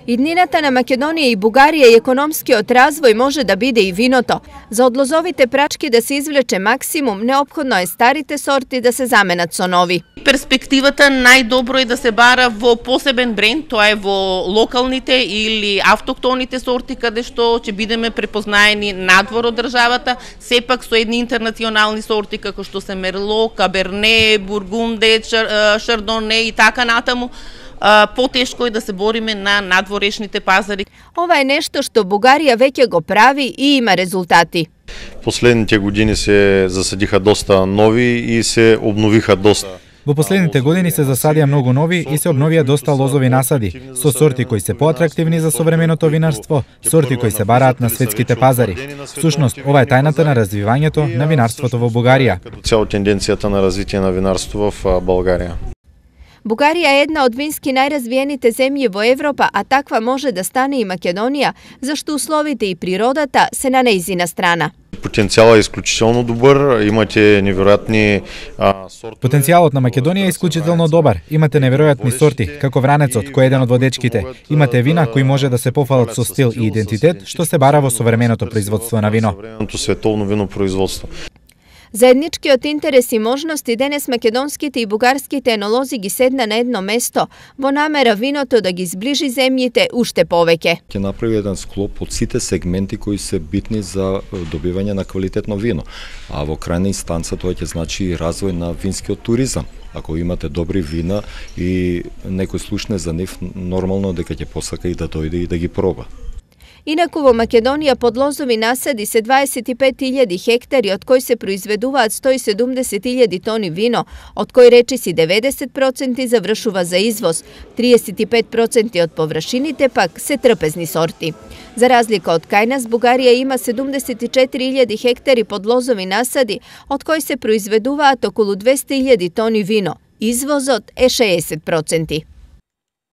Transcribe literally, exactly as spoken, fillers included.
Иднината на Македонија и Бугарија и економскиот развој може да биде и виното. За од лозовите прачки да се извлече максимум, неопходно е старите сорти да се заменат со нови. Перспективата најдобро е да се бара во посебен бренд, тоа е во локалните или автохтоните сорти, каде што ќе бидеме препознаени надвор од државата, сепак со едни интернационални сорти како што се Мерло, Каберне, Бургунде, Шардоне и така натаму. Потешко е да се бориме на надворешните пазари. Ова е нешто што Бугарија веќе го прави и има резултати. Последните години се засадиха доста нови и се обновиха доста. Во последните години се засадија многу нови и се обновија доста лозови насади, со сорти кои се поатрактивни за современото винарство, сорти кои се бараат на светските пазари. Всушност, ова е тајната на развивањето на винарството во Бугарија. Цела тенденцијата на развитие на винарство во Бугарија. Бугарија е една од вински најразвиените земји во Европа, а таква може да стане и Македонија, зашто условите и природата се на нејзина страна. Потенцијалот е исклучително добар, имате неверојатни сорти. Потенцијалот на Македонија е исклучително добар. Имате неверојатни сорти, како Вранецот, кој е еден од водечките. Имате вина кои може да се пофалат со стил и идентитет, што се бара во современото производство на вино. Современото световно винопроизводство. Заедничкиот интерес и можности денес македонските и бугарските енолози ги седна на едно место, во намера виното да ги зближи земјите уште повеќе. Ќе направи еден склоп од сите сегменти кои се битни за добивање на квалитетно вино, а во крајна инстанца тоа ќе значи и развој на винскиот туризам. Ако имате добри вина и некој слушне за нив, нормално дека ќе посака и да дојде и да ги проба. Инаку во Македонија под лозови насади се дваесет и пет илјади хектари, од кои се произведуваат сто и седумдесет илјади тони вино, од кои речиси деветдесет проценти завршува за извоз, триесет и пет проценти од површините пак се трпезни сорти. За разлика од кај нас, Бугарија има седумдесет и четири илјади хектари под лозови насади, од кои се произведуваат околу двесте илјади тони вино. Извозот е шеесет проценти.